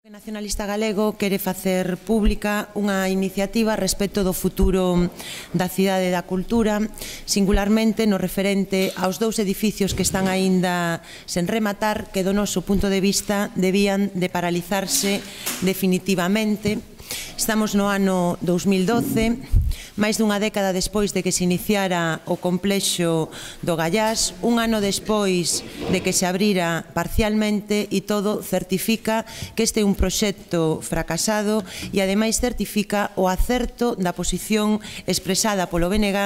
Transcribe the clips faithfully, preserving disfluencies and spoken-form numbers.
O nacionalista galego quere facer pública unha iniciativa respecto do futuro da cidade da cultura, singularmente no referente aos dous edificios que están aínda sen rematar, que do noso punto de vista debían de paralizarse definitivamente. Estamos no ano dous mil doce, máis dunha década despois de que se iniciara o complexo do Gallás, un ano despois de que se abrira parcialmente, e todo certifica que este é un proxecto fracasado e ademais certifica o acerto da posición expresada polo B N G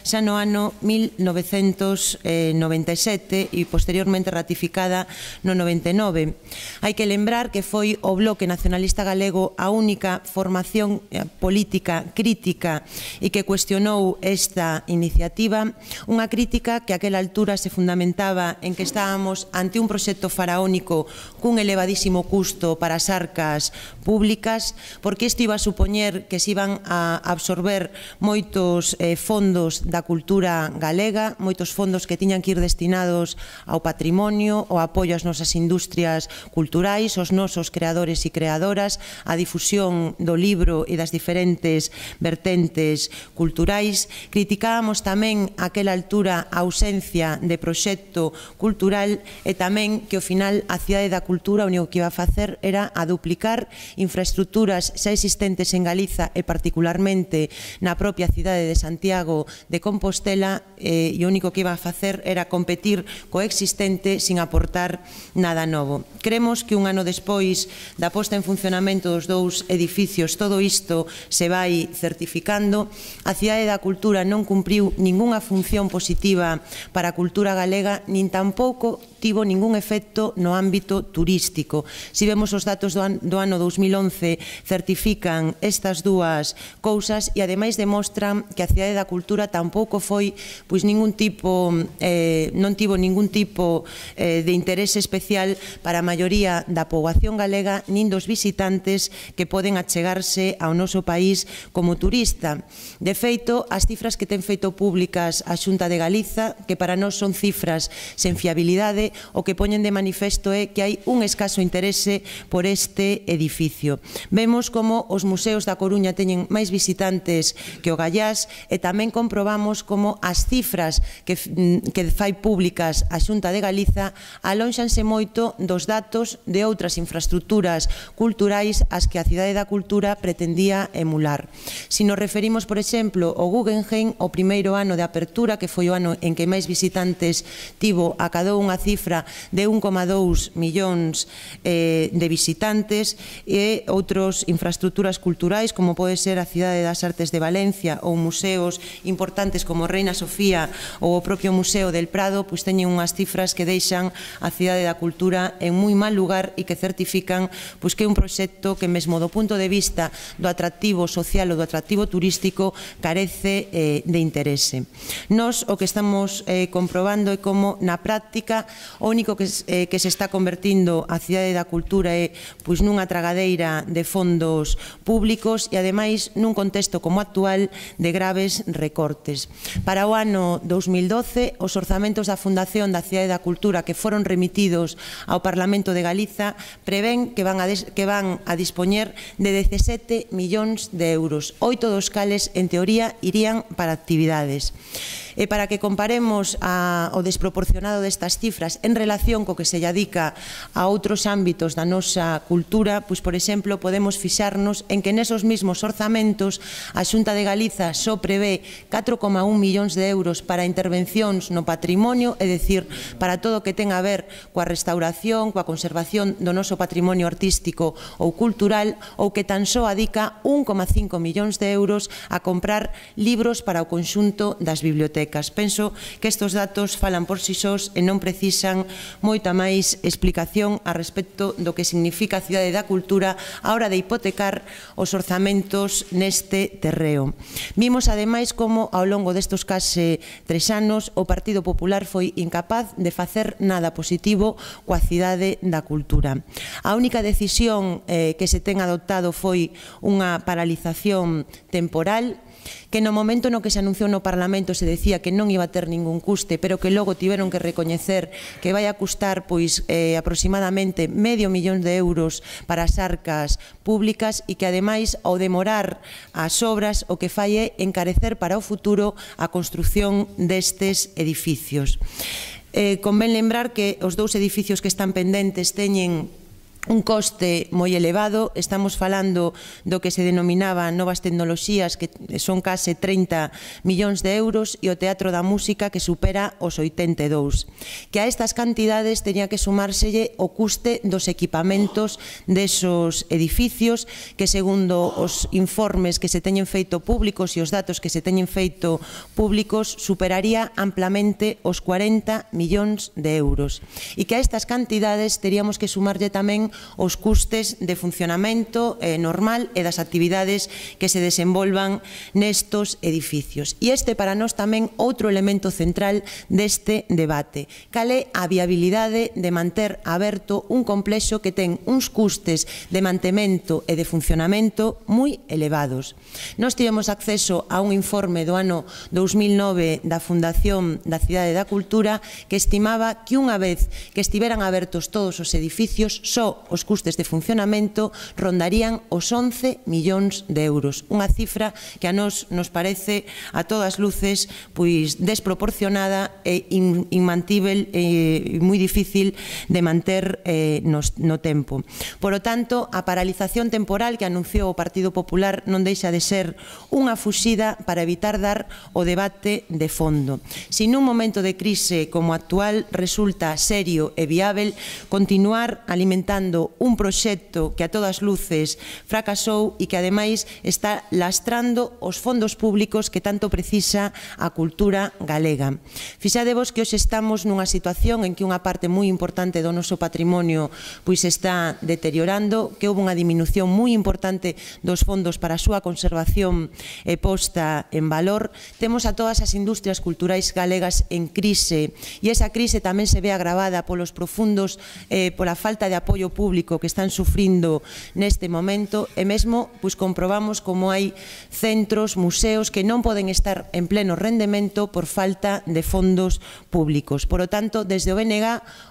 xa no ano mil novecentos noventa e sete e posteriormente ratificada no noventa e nove. Hai que lembrar que foi o Bloque Nacionalista Galego a única formación política crítica e que cuestionou esta iniciativa, unha crítica que a aquela altura se fundamentaba en que estábamos ante un proxecto faraónico cun elevadísimo custo para as arcas públicas, porque isto iba a supoñer que se iban a absorber moitos eh, fondos da cultura galega, moitos fondos que tiñan que ir destinados ao patrimonio, ao apoio ás nosas industrias culturais, aos nosos creadores e creadoras, á difusión do libro e das diferentes vertentes culturais. Criticábamos tamén a aquela altura a ausencia de proxecto cultural e tamén que ao final a cidade da cultura o único que iba a facer era a duplicar infraestructuras xa existentes en Galiza e particularmente na propia cidade de Santiago de Compostela, e o único que iba a facer era competir co existente sin aportar nada novo. Creemos que un ano despois da posta en funcionamento dos dous edificios todo isto se vai certificando. A cidade da cultura non cumpriu ningunha función positiva para a cultura galega, nin tampouco tivo ningún efecto no ámbito turístico. Si vemos os datos do ano dous mil once, certifican estas dúas cousas e ademais demostran que a cidade da cultura tampouco foi pois ningún tipo eh, non tivo ningún tipo eh, de interese especial para a maioría da poboación galega nin dos visitantes que poden achegarse ao noso país como turista. De feito, as cifras que ten feito públicas a Xunta de Galiza, que para nós son cifras sen fiabilidade, o que poñen de manifesto é que hai un escaso interese por este edificio. Vemos como os museos da Coruña teñen máis visitantes que o Gallás e tamén comprobamos como as cifras que, que fai públicas a Xunta de Galiza alónxanse moito dos datos de outras infraestructuras culturais as que a cidade da cultura pretendía emular. Si nos referimos, por exemplo, ao Guggenheim, o primeiro ano de apertura, que foi o ano en que máis visitantes tivo, acadou unha cifra de un coma dous millóns eh, de visitantes, e outras infraestructuras culturais como pode ser a Cidade das Artes de Valencia ou museos importantes como Reina Sofía ou o propio Museo del Prado, pois teñen unhas cifras que deixan a Cidade da Cultura en moi mal lugar e que certifican pois que é un proxecto que mesmo do punto de vista do atractivo social ou do atractivo turístico carece eh, de interese. Nos o que estamos eh, comprobando é como na práctica o único que, eh, que se está convertindo a cidade da cultura é pois nunha tragadeira de fondos públicos e ademais nun contexto como actual de graves recortes. Para o ano dous mil doce, os orzamentos da Fundación da Cidade da Cultura que foron remitidos ao Parlamento de Galiza prevén que van a, des, que van a dispoñer de dezasete millóns de euros, oito dos cales en teoría irían para actividades. E para que comparemos a, o desproporcionado destas cifras en relación co que se lle adica a outros ámbitos da nosa cultura, pois, por exemplo, podemos fixarnos en que nesos mesmos orzamentos a Xunta de Galiza só prevé catro coma un millóns de euros para intervencións no patrimonio, é dicir, para todo o que ten a ver coa restauración, coa conservación do noso patrimonio artístico ou cultural, ou que tan só adica un coma cinco millóns de euros a comprar libros para o conxunto das bibliotecas. Penso que estes datos falan por si sós e non precisan moita máis explicación a respecto do que significa a cidade da cultura a hora de hipotecar os orzamentos neste terreo. Vimos ademais como ao longo destes case tres anos o Partido Popular foi incapaz de facer nada positivo coa cidade da cultura. A única decisión eh, que se ten adoptado foi unha paralización temporal que no momento no que se anunciou no Parlamento se decía que non iba a ter ningún custe, pero que logo tiveron que recoñecer que vai a custar pois eh, aproximadamente medio millón de euros para as arcas públicas e que ademais ao demorar as obras o que fai é encarecer para o futuro a construción destes edificios. Eh, convén lembrar que os dous edificios que están pendentes teñen un coste moi elevado, estamos falando do que se denominaba novas tecnoloxías, que son case trinta millóns de euros, e o Teatro da Música, que supera os oitenta e dous. Que a estas cantidades teña que sumárselle o custe dos equipamentos desos edificios, que segundo os informes que se teñen feito públicos e os datos que se teñen feito públicos, superaría amplamente os cuarenta millóns de euros. E que a estas cantidades teríamos que sumarlle tamén os custes de funcionamento eh, normal e das actividades que se desenvolvan nestos edificios. E este para nós tamén outro elemento central deste debate. Cal é a viabilidade de manter aberto un complexo que ten uns custes de mantemento e de funcionamento moi elevados. Nós tivemos acceso a un informe do ano dous mil nove da Fundación da Cidade da Cultura que estimaba que unha vez que estiveran abertos todos os edificios, só os custes de funcionamento rondarían os once millóns de euros. Unha cifra que a nós nos parece a todas luces pois desproporcionada e inmantível e moi difícil de manter eh, no, no tempo. Por lo tanto, a paralización temporal que anunciou o Partido Popular non deixa de ser unha fuxida para evitar dar o debate de fondo. Se nun momento de crise como actual resulta serio e viável continuar alimentando un proxecto que a todas luces fracasou e que ademais está lastrando os fondos públicos que tanto precisa a cultura galega. Fixadevos que hoxe estamos nunha situación en que unha parte moi importante do noso patrimonio pois está deteriorando, que houve unha diminución moi importante dos fondos para a súa conservación e posta en valor. Temos a todas as industrias culturais galegas en crise e esa crise tamén se ve agravada polos profundos, eh, pola falta de apoio público que están sufrindo neste momento e mesmo pois comprobamos como hai centros, museos que non poden estar en pleno rendemento por falta de fondos públicos. Por lo tanto, desde o B N G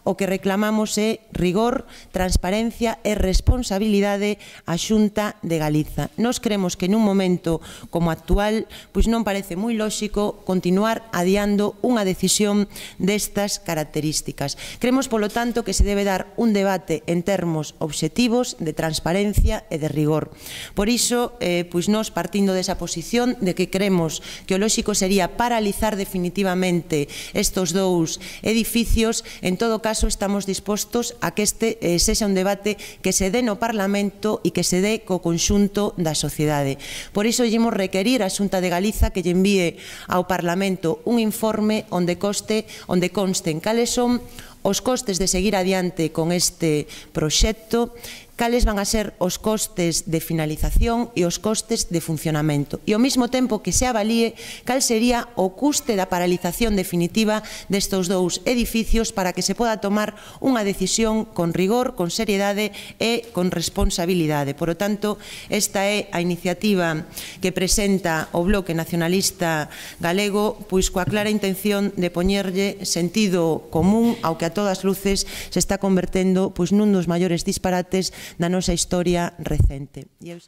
o que reclamamos é rigor, transparencia e responsabilidade á Xunta de Galiza. Nos creemos que nun momento como actual pois non parece moi lóxico continuar adiando unha decisión destas características. Creemos, polo tanto, que se debe dar un debate en termos obxectivos de transparencia e de rigor. Por iso, eh, pois nós partindo desa posición de que creemos que o lóxico sería paralizar definitivamente estos dous edificios, en todo caso estamos dispostos a que este eh, sexa un debate que se dé no Parlamento e que se dé co conxunto da sociedade. Por iso llemos requerir a Xunta de Galiza que lle envíe ao Parlamento un informe onde coste, onde consten cales son os costes de seguir adiante con este proxecto, cales van a ser os costes de finalización e os costes de funcionamento. E ao mesmo tempo que se avalíe cal sería o custe da paralización definitiva destes dous edificios para que se poda tomar unha decisión con rigor, con seriedade e con responsabilidade. Por lo tanto, esta é a iniciativa que presenta o Bloque Nacionalista Galego, pois coa clara intención de poñerlle sentido común ao que a todas luces se está convertendo pois nun dos maiores disparates da nosa historia recente. Eh,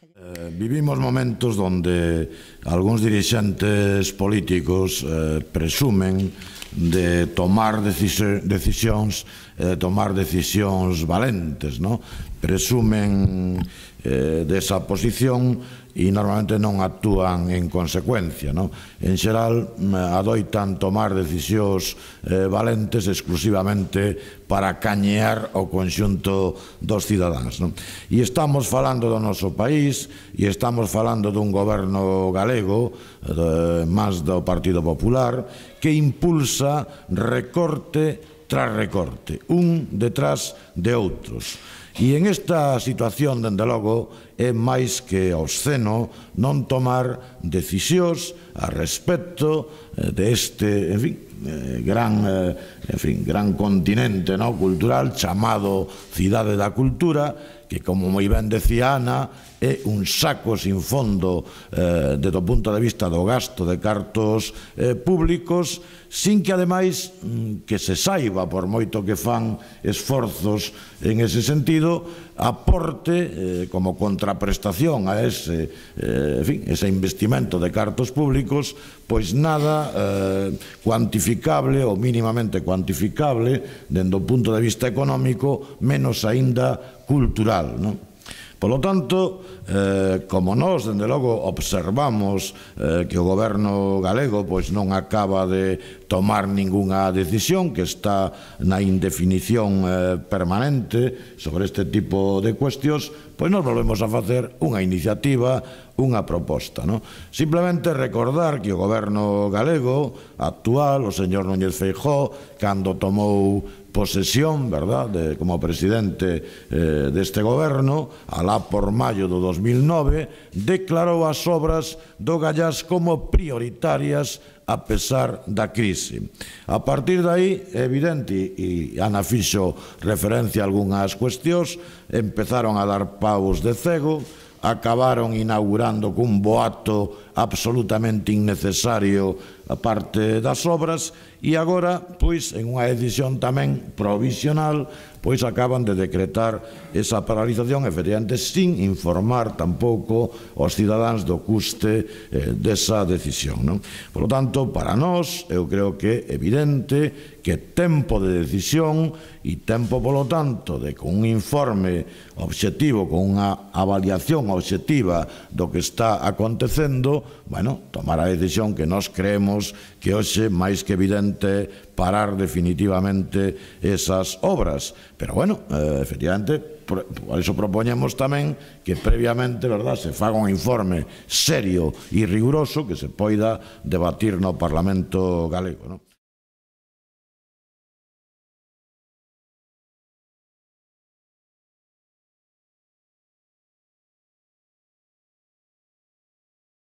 vivimos momentos onde algúns dirixentes políticos eh, presumen de tomar decisións, eh, tomar decisións valentes, no? Presumen eh, desa posición e normalmente non actúan en consecuencia, no? En xeral, adoitan tomar decisións eh, valentes exclusivamente para cañear o conxunto dos cidadáns, no? E estamos falando do noso país e estamos falando dun goberno galego, eh, máis do Partido Popular, que impulsa recorte tras recorte, un detrás de outros. E en esta situación, dende logo, é máis que obsceno non tomar decisións a respecto deste, en fin, gran, en fin, gran continente cultural chamado Cidade da Cultura, que, como moi ben decía Ana, é un saco sin fondo eh, desde o punto de vista do gasto de cartos eh, públicos, sin que, ademais, que se saiba, por moito que fan esforzos en ese sentido, aporte eh, como contraprestación a ese, eh, en fin, ese investimento de cartos públicos, pois nada eh, cuantificable ou mínimamente cuantificable dende o punto de vista económico, menos aínda cultural, non? Polo tanto, eh, como nós, dende logo, observamos eh, que o goberno galego pois non acaba de tomar ningunha decisión, que está na indefinición eh, permanente sobre este tipo de cuestións, pois nos volvemos a facer unha iniciativa, unha proposta, non? Simplemente recordar que o goberno galego actual, o señor Núñez Feijóo, cando tomou posesión, verdad, de, como presidente eh, deste goberno, alá por maio do dos mil nove, declarou as obras do Gallás como prioritarias a pesar da crise. A partir de aí, é evidente, e Ana fixo referencia a algunhas cuestións, empezaron a dar paus de cego, acabaron inaugurando cun boato absolutamente innecesario a parte das obras, e agora, pois, en unha decisión tamén provisional, pois acaban de decretar esa paralización, efectivamente, sin informar tampouco aos cidadáns do custe eh, desa decisión, non? Por lo tanto, para nós, eu creo que é evidente que tempo de decisión e tempo, polo tanto, de con un informe obxectivo, con unha avaliación obxectiva do que está acontecendo, bueno, tomar a decisión que nós creemos que hoxe, máis que evidente, parar definitivamente esas obras. Pero, bueno, eh, efectivamente, por iso propoñemos tamén que previamente, verdad, se faga un informe serio e riguroso que se poida debatir no Parlamento galego, non?